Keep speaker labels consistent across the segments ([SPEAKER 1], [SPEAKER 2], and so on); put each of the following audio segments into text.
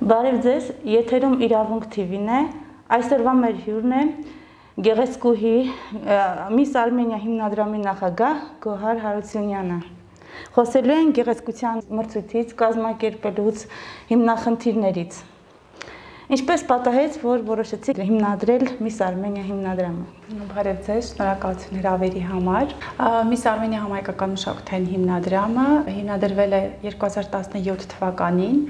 [SPEAKER 1] Բարև ձեզ, եթերում իրավունք TV-ն է, այսօրվա մեր հյուրն է գեղեցկուհի Miss Armenia հիմնադրամի նախագահ Գոհար Հարությունյանը։ Խոսելու են գեղեցկության մրցույթից, կազմակերպելուց, հիմնախնդիրներից։ Ինչպես պատահեց, որ որոշեցիք հիմնադրել Miss Armenia հիմնադրամը։
[SPEAKER 2] Բարև ձեզ, շնորհակալություն հրավերի համար։ Miss Armenia համայնքական մշակութային հիմնադրամը հիմնադրվել է 2017 թվականին։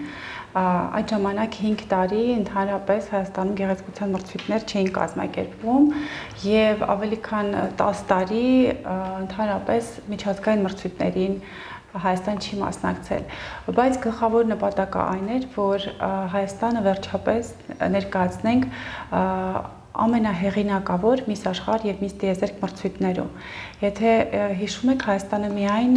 [SPEAKER 2] Այդ ժամանակ 5 տարի ընդհանրապես Հայաստանում գեղեցկության մրցույթներ չէին կազմակերպվում եւ ավելի քան 10 տարի ընդհանրապես միջազգային մրցույթներին Հայաստան չի մասնակցել, բայց գլխավոր նպատակը այն էր, որ Հայաստանը վերջապես ներկայացնենք ամենահեղինակավոր Miss Աշխարհ եւ Miss Տիեզերք մրցույթներում։ Եթե հիշում եք, Հայաստանը միայն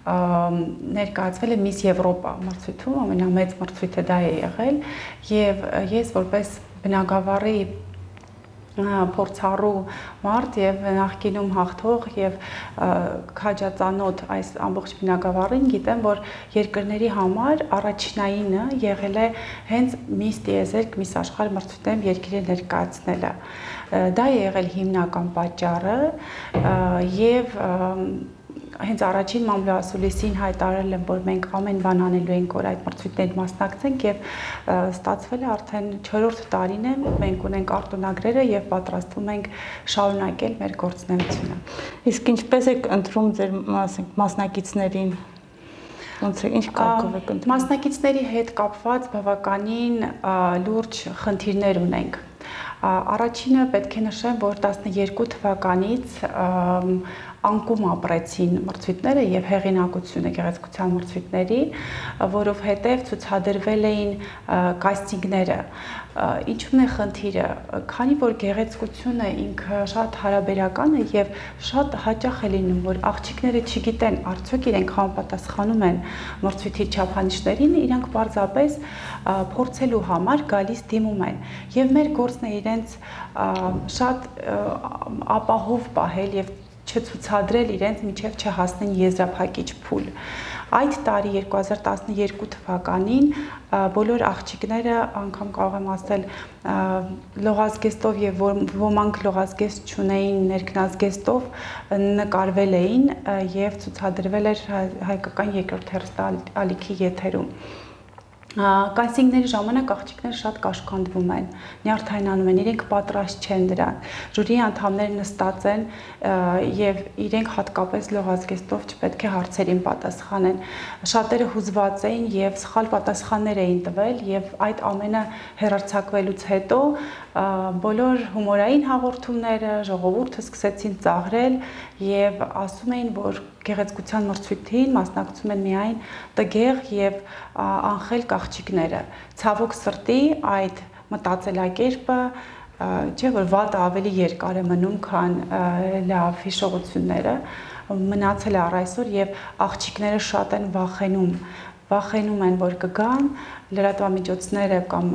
[SPEAKER 2] ներկայացվել է Miss Եվրոպա մրցույթում, ամենամեծ մրցույթը դա է եղել, եւ ես որպես բնագավառի փորձառու մարդ եւ նախկինում հաղթող եւ քաջածանոթ այս ամբողջ բնագավառին գիտեմ, որ երկրների համար առաջնայինը եղել է հենց Miss Տիեզերք, Miss Աշխարհ մրցույթներում երկիրը ներկայացնելը։ Դա է եղել հիմնական պատճառը եւ հենց առաջին մամլոասուլիսին հայտարարել եմ, որ մենք ամեն բան անելու ենք, որ այդ մրցույթներին մասնակցենք եւ ստացվել է արդեն 4-րդ տարին է, մենք ունենք արտոնագրերը եւ պատրաստվում ենք շարունակել մեր գործունեությունը։
[SPEAKER 1] Իսկ ինչպես եք ընտրում ձեր մասնակիցներին։ Ոնց է, ինչ կարգով եք ընտրում։
[SPEAKER 2] Մասնակիցների հետ կապված բավականին լուրջ խնդիրներ ունենք։ Առաջինը պետք է նշեմ, որ 12 թվականից անկում ապրեցին մրցույթները եւ հեղինակությունը գեղեցկության մրցույթների, որովհետեւ ցուցադրվել էին կաստինգները։ Ինչու՞ն է խնդիրը, քանի որ գեղեցկությունը ինքը շատ հարաբերական է եւ շատ հաճախ է լինում, որ աղջիկները չգիտեն արդյոք իրենք համապատասխանում են մրցույթի չափանիշներին, իրանք պարզապես փորձելու համար գալիս դիմում են եւ մեր գործն է իրենց շատ ապահով պահել եւ չցուցադրել իրենց միջև չհասնեն եզրափակիչ փուլ։ Այդ տարի 2012 թվականին բոլոր աղջիկները, անգամ կարող եմ ասել, լողազգեստով եւ ոմանք լողազգեստ չունեին, ներքնազգեստով նկարվել էին եւ ցուցադրվել էր հայկական երկրորդ հեռուստաալիքի եթերում։ Կաստինգների ժամանակ աղջիկները շատ կաշկանդվում են, նյարդայնանում են, իրենք պատրաստ չեն դրան։ Ժյուրիի անդամները նստած են եւ իրենք հատկապես լողազգեստով չպետք է հարցերին պատասխանեն։ Շատերը հուզված էին եւ սխալ պատասխաններ էին տվել եւ այդ ամենը հեռարձակվելուց հետո բոլոր հումորային հաղորդումները ժողովուրդը սկսեցին ծաղրել եւ ասում էին, որ գեղեցկության մրցույթին մասնակցում են միայն տգեղ եւ անխելք աղջիկները։ Ցավոք սրտի այդ մտածելակերպը չէ, որ վատը ավելի երկար է մնում, քան լավ հիշողությունները, մնացել է առ այսօր եւ աղջիկները շատ են վախենում են, որ կգան լրատվամիջոցները կամ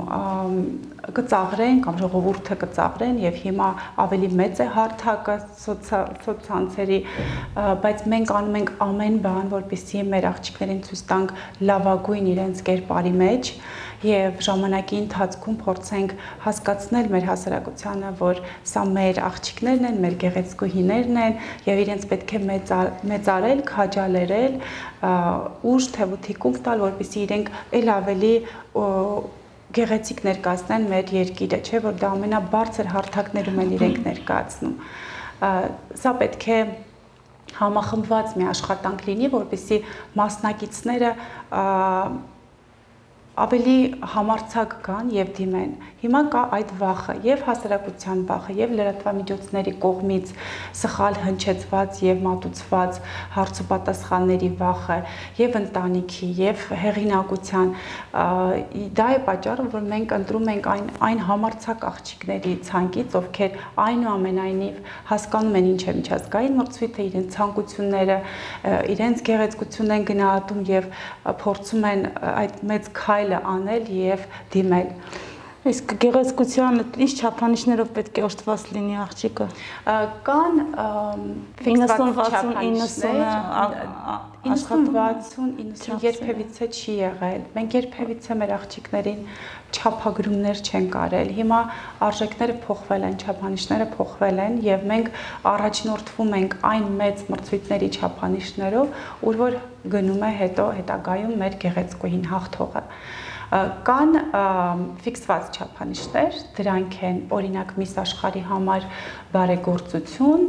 [SPEAKER 2] կծաղրեն կամ ժողովուրդը կծաղրեն եւ հիմա ավելի մեծ է հարթակը սոցցանցերի, բայց մենք անում ենք ամեն բան, որպեսզի մեր աղջիկներին ցույց տանք լավագույն իրենց կերպարի մեջ եւ ժամանակի ընթացքում փորձենք հասկացնել մեր հասարակությանը, որ սա մեր աղջիկներն են, մեր գեղեցկուհիներն են եւ իրենց պետք է մեծարել, քաջալերել, ուժ թեւութիկում տալ, որպեսզի իրենք ել ավելի գեղեցիկ ներկայացնեն մեր երկիրը, չէ՞ որ դա ամենաբարձր հարթակներում են իրենք ներկայացնում։ Սա պետք է համախմբված մի աշխատանք լինի, որպեսզի մասնակիցները ավելի համարձակ կան եւ դիմեն։ Հիմա կա այդ վախը, եւ հասարակության վախը, եւ լրատվամիջոցների կողմից սխալ հնչեցված եւ մատուցված հարցոպատասխանների վախը, եւ ընտանիքի, եւ հեղինակության։ Դա է պատճառը, որ մենք ընտրում ենք այն համարձակ աղջիկների ցանկից, ովքեր այնուամենայնիվ հասկանում են ինչ է միջազգային մրցույթը, իրենց ցանկությունները, իրենց գեղեցկությունն են գնահատում եւ փորձում են այդ մեծ քայլը անել եւ դիմել։
[SPEAKER 1] Իսկ գեղեցկության ինչ չափանիշներով պետք է օժտված լինի աղջիկը։
[SPEAKER 2] Կան
[SPEAKER 1] 90-60-90
[SPEAKER 2] երբևիցե չի եղել։ Մենք երբևիցե մեր աղջիկներին չափագրումներ չենք արել։ Հիմա արժեքները փոխվել են, չափանիշները փոխվել են եւ մենք առաջնորդվում ենք այն մեծ մրցույթների չափանիշներով, ուր որ գնում է հետագայում մեր գեղեցկուհին հաղթողը։ Կան ֆիքսված չափանիշներ, դրանք են օրինակ Միս աշխարհի համար բարեգործություն,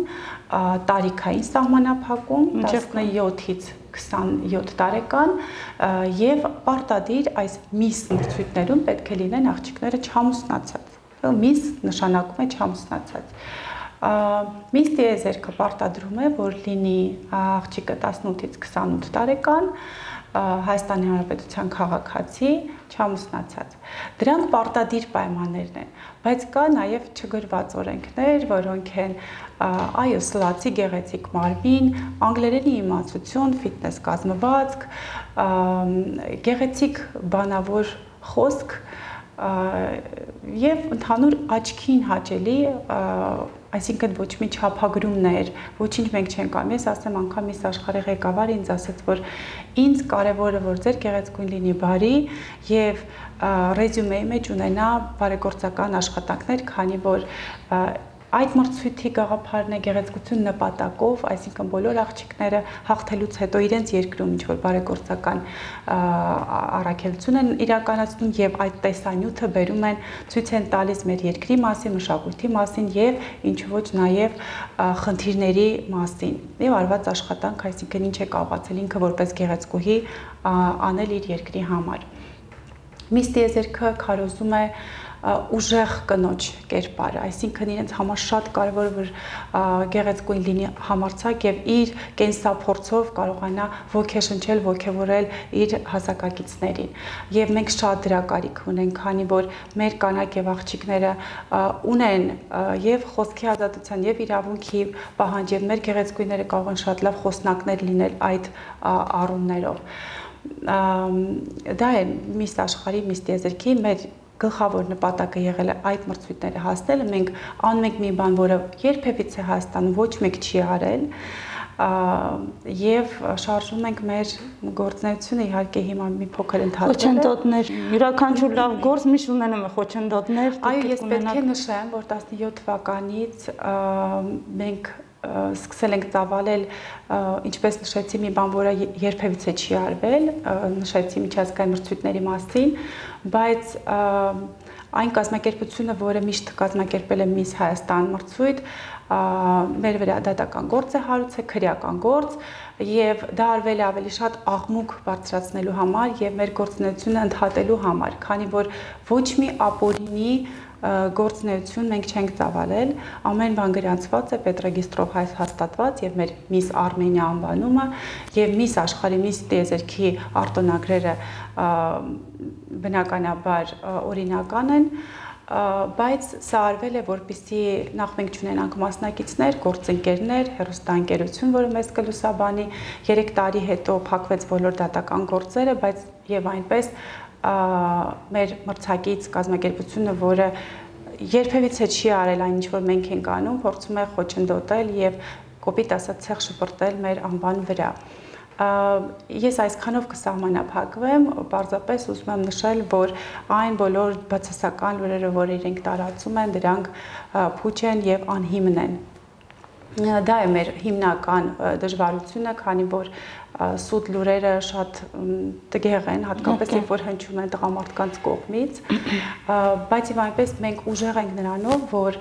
[SPEAKER 2] տարիքային սահմանափակում 17-ից 27 տարեկան եւ պարտադիր այս Միս մրցույթներում պետք է լինեն աղջիկները չամուսնացած։ Միս նշանակում է չամուսնացած։ Միս տիեզերքը պարտադրում է, որ լինի աղջիկը 18-ից 28 տարեկան, Հայաստանի Հանրապետության քաղաքացի, չամուսնացած։ Դրանք պարտադիր պայմաններն են, բայց կա նաև չգրված օրենքներ, որոնք են այո, սլացի գեղեցիկ մարմին, անգլերենի իմացություն, ֆիթնես կազմվածք, գեղեցիկ բանավոր խոսք եւ ընդհանուր աչքին հաճելի, այսինքն ոչ մի չափագրումներ, ոչինչ մենք չենք անում։ Ես ասեմ անգամ Միս աշխարհի ղեկավարը ինձ ասաց, որ ինձ կարևորը որ ձեր գեղեցկույն լինի բարի եւ ռեզյումեի մեջ ունենա բարեգործական աշխատանքներ, քանի որ այդ մրցույթի գաղափարն է գեղեցկություն նպատակով, այսինքն բոլոր աղջիկները հաղթելուց հետո իրենց երկրում ինչ որ բարեգործական առաքելություն են իրականացնում եւ այդ տեսանյութը բերում են, ցույց են տալիս մեր երկրի մասին, մշակույթի մասին եւ ինչ ոչ նաեւ խնդիրների մասին։ Եվ արված աշխատանք, այսինքն ինչ է կարողացել ինքը որպես գեղեցկուհի անել իր երկրի համար։ Միս տիեզերքը քարոզում է ուժեղ կնոջ կերպարը, այսինքն իրենց համար շատ կարևոր է որ գեղեցկույն լինի համարձակ եւ իր կենսափորձով կարողանա ոգեշնչել, ոգևորել իր հասակակիցներին։ Եվ մենք շատ դրա կարիք ունենք, քանի որ մեր կանայք եւ աղջիկները ունեն եւ խոսքի ազատության եւ իրավունքի պահանջ եւ մեր գեղեցկույնները կարող են շատ լավ խոսնակներ լինել այդ առումներով։ Դա է Միս աշխարհի, Միս տիեզերքի մեր գլխավոր նպատակը եղել է այդ մրցույթները հասնելը, մենք անում ենք մի բան, որը երբևիցե Հայաստանում ոչ մեկ չի արել, եւ շարժում ենք մեր գործունեությունը, իհարկե հիմա մի փոքր ընդհատվել է։
[SPEAKER 1] Խոչընդոտներ, յուրաքանչյուր լավ գործ միշտ ունենում է խոչընդոտներ։
[SPEAKER 2] Այո, ես պետք է նշեմ, որ 17 թվականից մենք սկսել ենք ծավալել, ինչպես նշեցի, մի բան, որը երբևիցե չի արվել, նշեցի միջազգային մրցույթների մասին, բայց այն կազմակերպությունը, որը միշտ կազմակերպել է Միս Հայաստան մրցույթ, մեր վրա դատական գործ է հարուցել, քրեական գործ, եւ դա արվել է ավելի շատ աղմուկ բարձրացնելու համար եւ մեր գործունեությունը ընդհատելու համար, քանի որ ոչ մի ապօրինի գործունեություն մենք չենք ծավալել, ամեն բան գրանցված է պետրեգիստրով հաստատված եւ մեր Միս Արմենիա անվանումը եւ Միս աշխարհի Միս տիեզերքի արտոնագրերը բնականաբար օրինական են, բայց սա արվել է որպեսզի նախ մենք չունենանք մասնակիցներ, գործընկերներ, հեռուստաընկերություն, որը մեզ կլուսաբանի, 3 տարի հետո փակվեց բոլոր դատական գործերը, բայց եւ այնպես մեր մրցակից կազմակերպությունը, որը երբևիցե չի արել այն ինչ որ մենք ենք անում, փորձում է խոչընդոտել եւ կոպիտ ասած ցեղ շպրտել մեր անվան վրա։ Ես այսքանով կսահմանափակվեմ, պարզապես ուզում եմ նշել, որ այն բոլոր բացասական լուրերը, որ իրենք տարածում են, դրանք փուչ են եւ անհիմն են։ Դա է մեր հիմնական դժվարությունը, քանի որ սուտ լուրերը շատ տգեղ են, հատկապես երբ որ հնչում են տղամարդկանց կողմից, բայց եւ այնպես մենք ուժեղ ենք նրանով, որ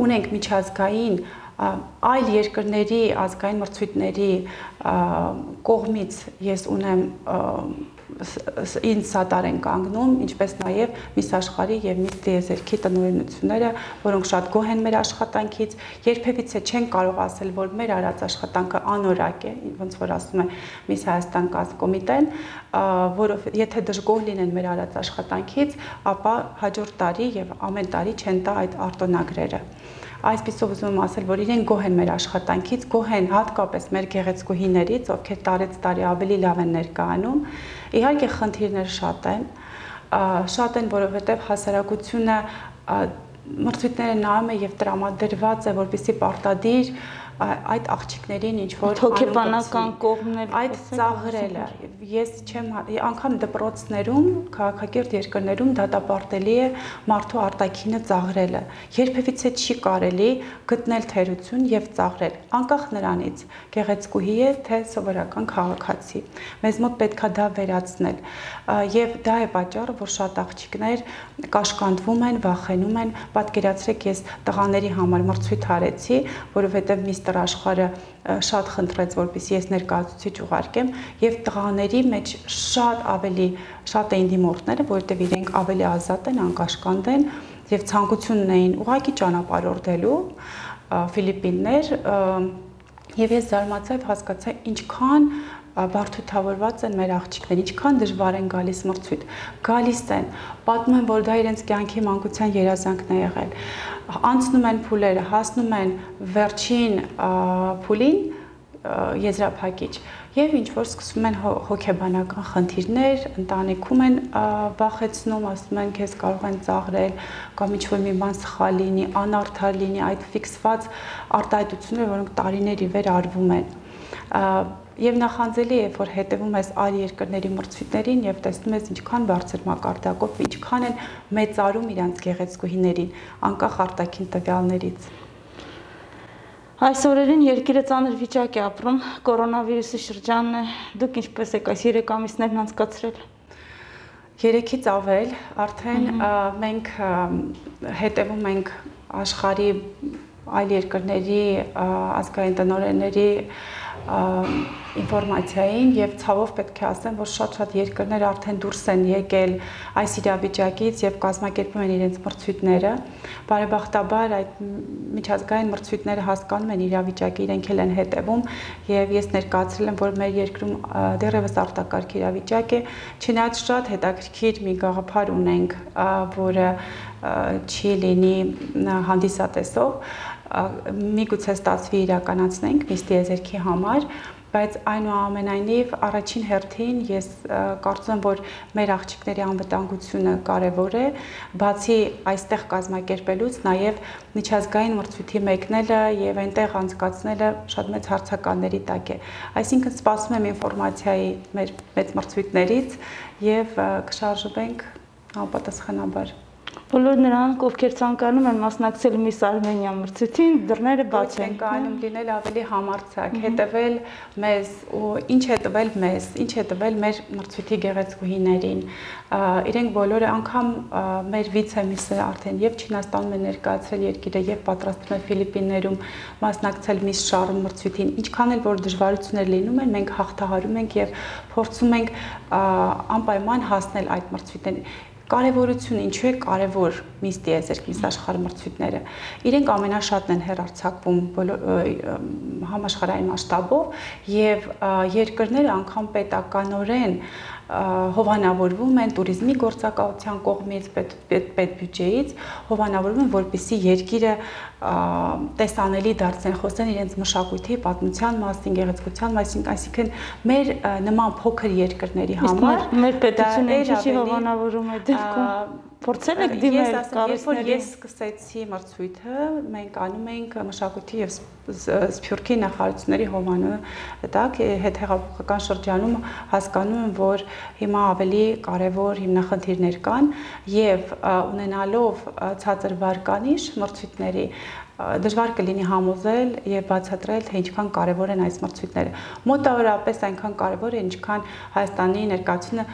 [SPEAKER 2] ունենք միջազգային այլ երկրների ազգային մրցույթների կողմից ես ունեմ ինձ սատար են կանգնում, ինչպես նաև Միս աշխարհի եւ Միս տիեզերքի տնօրինությունները, որոնք շատ գոհ են մեր աշխատանքից, երբևիցե չեն կարող ասել, որ մեր արած աշխատանքը անորակ է, ոնց որ ասում է Միս Հայաստան կոմիտեն, որով եթե դժգոհ լինեն մեր արած աշխատանքից, ապա հաջորդ տարի եւ ամեն տարի չեն տա այդ արտոնագրերը։ Այսպիսով ուզում եմ ասել, որ իրենք գոհ են մեր աշխատանքից, գոհ են հատկապես մեր գեղեցկուհիներից, ովքեր տարեց տարի ավելի լավ են ներկայանում։ Իհարկե խնդիրներ շատ են, շատ են, որովհետև հասարակությունը մրցույթները նայում է եւ տրամադրված է, որպեսզի պարտադիր այդ աղջիկներին ինչ որ
[SPEAKER 1] հոգեբանական կողմն
[SPEAKER 2] այդ ծաղրելը ես չեմ անգամ դպրոցներում քաղաքակիրթ երկրներում դատապարտելի է մարդու արտաքինը ծաղրելը երբևիցե չի կարելի գտնել թերություն եւ ծաղրել անկախ նրանից գեղեցկուհի է թե սովորական քաղաքացի մեզ մոտ պետքա դա վերացնել եւ դա է պատճառը որ շատ աղջիկներ կաշկանդվում են վախենում են պատկերացրեք ես տղաների համար մրցույթ արեցի որովհետեւ Միսթր Աշխարհը շատ խնդրեց որպեսզի ես ներկայացուցիչ ուղարկեմ եւ տղաների մեջ շատ էին դիմորդները որովհետեւ իրենք ավելի ազատ են անկաշկանդ են եւ ցանկություն ունեին ուղղակի ճանապարհորդելու Ֆիլիպիններ եւ ես զարմացա եւ հասկացա ինչքան բարդությունավորված են մեր աղջիկները, ինչքան դժվար են գալիս մրցույթ, գալիս են, պատմում են, որ դա իրենց կյանքի մանկության երազանքն է եղել, անցնում են փուլերը, հասնում են վերջին փուլին եզրափակիչ եւ ինչ որ սկսում են հոգեբանական խնդիրներ, ընտանիքում են վախեցնում, ասում են քեզ կարող են ծաղրել կամ ինչ որ մի բան սխալ լինի, անարդար լինի, այդ ֆիքսված արտահայտությունները, որոնք տարիներ ի վեր արվում են Եվ նախանձելի է, որ հետևում ես այլ երկրների մրցույթներին եւ տեսնում ես ինչքան բարձր մակարդակով, ինչքան են մեծարում իրանց գեղեցկուհիներին, անկախ արտաքին տվյալներից։
[SPEAKER 1] Այս օրերին երկիրը ծանր վիճակ է ապրում, կորոնավիրուսի շրջանն է, դուք ինչպես եք այս 3 ամիսներն անցկացրել։
[SPEAKER 2] 3-ից ավել, արդեն մենք հետևում ենք աշխարհի այլ երկրների ազգային տնօրենների ինֆորմացիային եւ ցավով պետք է ասեմ, որ շատ երկրներ արդեն դուրս են եկել այս իրավիճակից եւ կազմակերպում են իրենց մրցույթները։ Բարեբախտաբար այդ միջազգային մրցույթները հասկանում են իրավիճակը, իրենք էլ են հետևում եւ ես ներկայացրել եմ, որ մեր երկրում դեռևս արտակարգ իրավիճակ է, չնայած շատ հետաքրքիր մի գաղափար ունենք, որը չի լինի հանդիսատեսով միգուցե ստացվի իրականացնենք Միսթի Եզերքի համար, բայց այնուամենայնիվ առաջին հերթին ես կարծում եմ, որ մեր աղջիկների անվտանգությունը կարևոր է, բացի այստեղ կազմակերպելուց, նաև միջազգային մրցույթի մեկնելը եւ այնտեղ անցկացնելը շատ մեծ հարցականների տակ է։ Այսինքն սպասում եմ ինֆորմացիայի մեր մեծ մրցույթներից եւ կշարժվենք անպատասխանաբար։
[SPEAKER 1] Բոլոր նրանք, ովքեր ցանկանում են մասնակցել Miss Armenia մրցույթին, դռները բաց են։
[SPEAKER 2] Ցանկանում լինել ավելի համարձակ, հետևել մեզ ու ինչ է տվել մեզ, ինչ է տվել մեր մրցույթի գեղեցկուհիներին։ Իրենք բոլորը անգամ մեր վիցե-միսը արդեն եւ Չինաստանում են ներկայացրել երկիրը եւ պատրաստվում է Ֆիլիպիններում մասնակցել Miss Charm մրցույթին։ Ինչքան էլ որ դժվարություններ լինում են, մենք հաղթահարում ենք եւ փորձում ենք անպայման հասնել այդ մրցույթներին։ Կարևորությունը ինչու է կարևոր Միսթի Եզերք Miss աշխարհ մրցույթները։ Իրենք ամենաշատն են հեռարձակվում համաշխարհային մասշտաբով եւ երկրները անգամ պետականորեն հովանավորվում են туриզմի գործակալության կողմից, պետբյուջեից, հովանավորվում են, որպեսզի երկիրը տեսանելի դարձնեն, խոսեն իրենց մշակույթի, պատմության մասին, գեղեցկության մասին, այսինքն մեր նման փոքր երկրների համար
[SPEAKER 1] մեր պետությունը ինչի հովանավորում է դեպքում փորձել եք դիմել կառույցների։
[SPEAKER 2] Ես սկսեցի մրցույթը, մենք անում ենք մշակույթի եւ սփյուռքի նախարարությունների հովանումը, դակ հետհեղափոխական շրջանում հասկանում եմ, որ հիմա ավելի կարևոր հիմնախնդիրներ կան եւ ունենալով ցածր վարկանիշ մրցույթների դժվար կլինի համոզել եւ բացատրել, թե ինչքան կարեւոր են այս մրցույթները։ Մոտավորապես այնքան կարեւոր է, ինչքան Հայաստանի ներկայացումը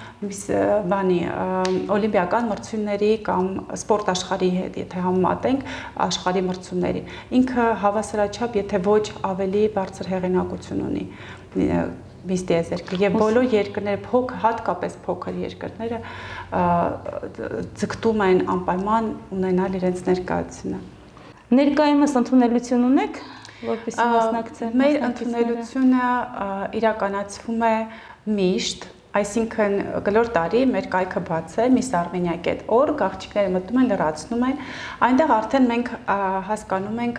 [SPEAKER 2] օլիմպիական մրցումների կամ սպորտ աշխարհի հետ, եթե համեմատենք աշխարհի մրցումներին։ Ինքը հավասարաչափ, եթե ոչ ավելի բարձր հեղինակություն ունի Միսթի Եզերքը եւ բոլոր երկրները հատկապես փոքր երկրները ձգտում են անպայման ունենալ իրենց ներկայությունը։
[SPEAKER 1] Ներկայումս ընդունելություն ունեք, որպեսզի մասնակցեք։
[SPEAKER 2] Մեր ընդունելությունը իրականացվում է միշտ Այսինքն գլոր տարի մեր կայքը բաց է missarmenia.org, աղջիկները մտնում են, լրացնում են, այնտեղ արդեն մենք հասկանում ենք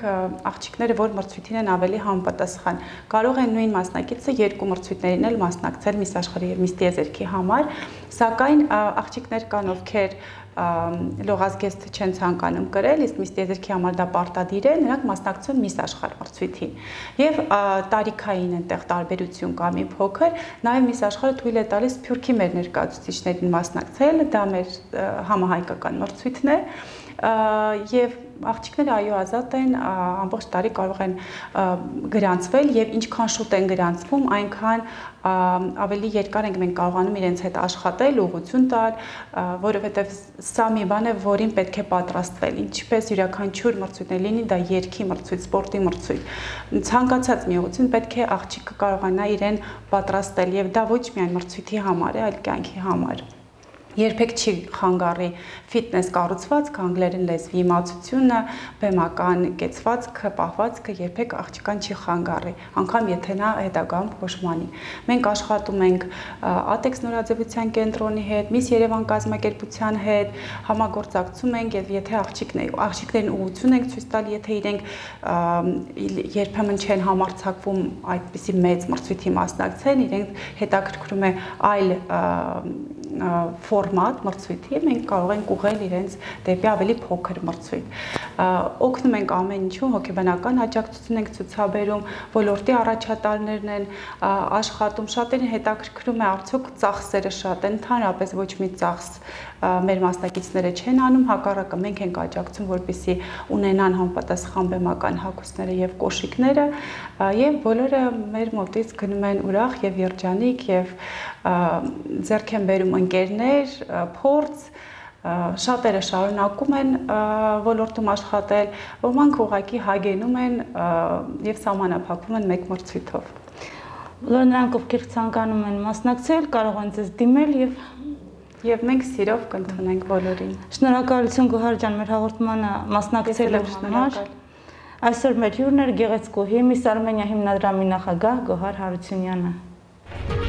[SPEAKER 2] աղջիկները, որ մրցույթին են ավելի համապատասխան։ Կարող են նույն մասնակիցը երկու մրցույթներին էլ մասնակցել Miss Աշխարհի եւ Miss Տիեզերքի համար, սակայն աղջիկներ կան, ովքեր լողազգեստ չեն ցանկանում կրել, իսկ Miss Տիեզերքի համար դա պարտադիր է, նրանք մասնակցում Miss Աշխարհ մրցույթին։ Եվ տարիքային այնտեղ տարբերություն կա մի փոքր, նաև Miss Աշխարհը թույլ է տալիս Սփյուռքի մեր ներկայացուցիչներին մասնակցել, դա մեր համահայկական մրցույթն է, եւ աղջիկները այո ազատ են, ամբողջ տարի կարող են գրանցվել եւ ինչքան շուտ են գրանցվում, այնքան ավելի երկար ենք մենք կարողանում իրենց հետ աշխատել, ուղղություն տալ, որովհետեւ սա մի բան է, որին պետք է պատրաստվել, ինչպես յուրաքանչյուր մրցույթներ լինի, դա երգի մրցույթ, սպորտի մրցույթ, ցանկացած մի ուղղություն պետք է աղջիկը կարողանա իրեն պատրաստել եւ դա ոչ միայն մրցույթի համար է, այլ կյանքի համար։ Երբեք չի խանգարի ֆիթնես կառուցվածքը, անգլերեն լեզվի իմացությունը, բեմական կեցվածքը, պահվածքը երբեք աղջկան չի խանգարի, անգամ եթե նա հետագայում փոշմանի։ Մենք աշխատում ենք ATEX նորաձևության կենտրոնի հետ, Miss Երևան կազմակերպության հետ, համագործակցում ենք եւ եթե աղջիկներին ուղղություն ենք ցույց տալ, եթե իրենք երբեմն չեն համարձակվում այդպիսի մեծ մրցույթի մասնակցել, իրենք հետաքրքրում է այլ ֆորմատ մրցույթի, մենք կարող ենք ուղղել իրենց դեպի ավելի փոքր մրցույթ։ Օգնում ենք ամեն ինչում, հոգեբանական աջակցություն ենք ցուցաբերում, ոլորտի առաջատարներն են աշխատում, շատերին հետաքրքրում է արդյոք ծախսերը շատ են, ընդհանրապես ոչ մի ծախս մեր մասնակիցները չեն անում, հակառակը մենք ենք աջակցում, որպեսզի ունենան համապատասխան բեմական հագուստները եւ կոշիկները, եւ բոլորը մեր մոտից գնում են ուրախ եւ երջանիկ եւ ձեռք են բերում ընկերներ, փորձ, շատերը շարունակում են ոլորտում աշխատել, ոմանք ուղղակի հագենում են եւ սահմանափակվում են մեկ մրցույթով։
[SPEAKER 1] Բոլոր նրանք, ովքեր ցանկանում են մասնակցել, կարող են ձեզ դիմել
[SPEAKER 2] եւ մենք սիրով կընդունենք բոլորին։
[SPEAKER 1] Շնորհակալություն Գոհար ջան, մեր հաղորդմանը մասնակցելու համար։ Այսօր մեր հյուրն էր գեղեցկուհի Miss Armenia հիմնադրամի նախագահ Գոհար Հարությունյանը։